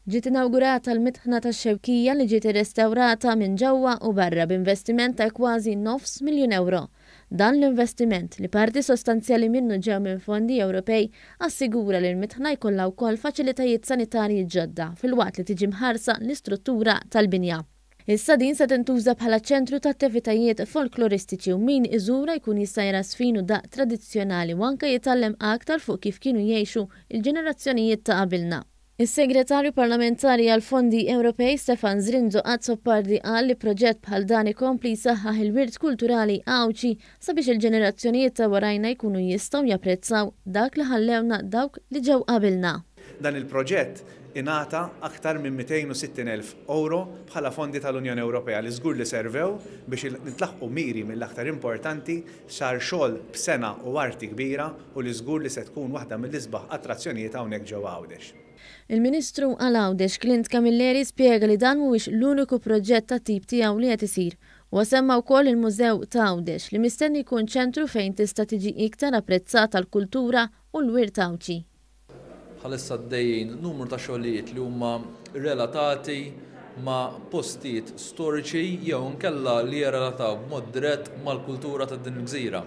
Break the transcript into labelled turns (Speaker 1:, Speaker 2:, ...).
Speaker 1: Ġiet inawgurata l-Mitħna tax-Xewkija li ġiet irrestawrata minn ġewwa u barra b'investiment ta' kważi nofs miljun ewro. Dan l-investiment, li parti sostanzjali minnu ġew minn fondi Ewropej, assigura li l-mitħna jkollha wkoll faċilitajiet sanitarji ġodda filwaqt li tiġi mħarsa l-istruttura tal-binja. Issa din se tintuża bħala ċentru ta' attivitajiet folkloristiċi u min iżurha jkun jista' jara żfin u daqq tradizzjonali u anke jitgħallem aktar fuq kif kienu jgħixu l-ġenerazzjonijiet ta' qabilna. Is-Segretarju Parlamentari għall-Fondi Ewropej Stefan Zrinzo Azzopardi qal li proġett bħal dan ikompli jsaħħaħ il-wirt kulturali Għawdxi sabiex il-ġenerazzjonijiet ta' warajna jkunu jistgħu japprezzaw dak li ħallewna dawk li ġew qabilna.
Speaker 2: Dan il-proġett ingħata aktar minn 260,000 ewro bħala fondi tal-Unjoni Ewropea li żgur li servew biex nintlaħqu miri mill-aktar importanti, sar xogħol b'sengħa u arti kbira u li żgur li se tkun waħda mill-isbaħ attrazzjonijiet hawnhekk ġewwa Għawdex.
Speaker 1: Il-Ministru għal Għawdex Clint Camilleri spjega li dan mhuwiex l-uniku proġett tat-tip tiegħu li qed isir. Huwa semma wkoll il-Mużew ta' Għawdex li mistenni jkun ċentru fejn tista' tiġi iktar apprezzata l-kultura u l-wirt Għawdxi.
Speaker 3: Bħalissa għaddejjin numru ta' xogħlijiet li huma relatati ma' postijiet storiċi jew inkella li jirrelataw b'mod dirett mal-kultura ta' din il-gżira.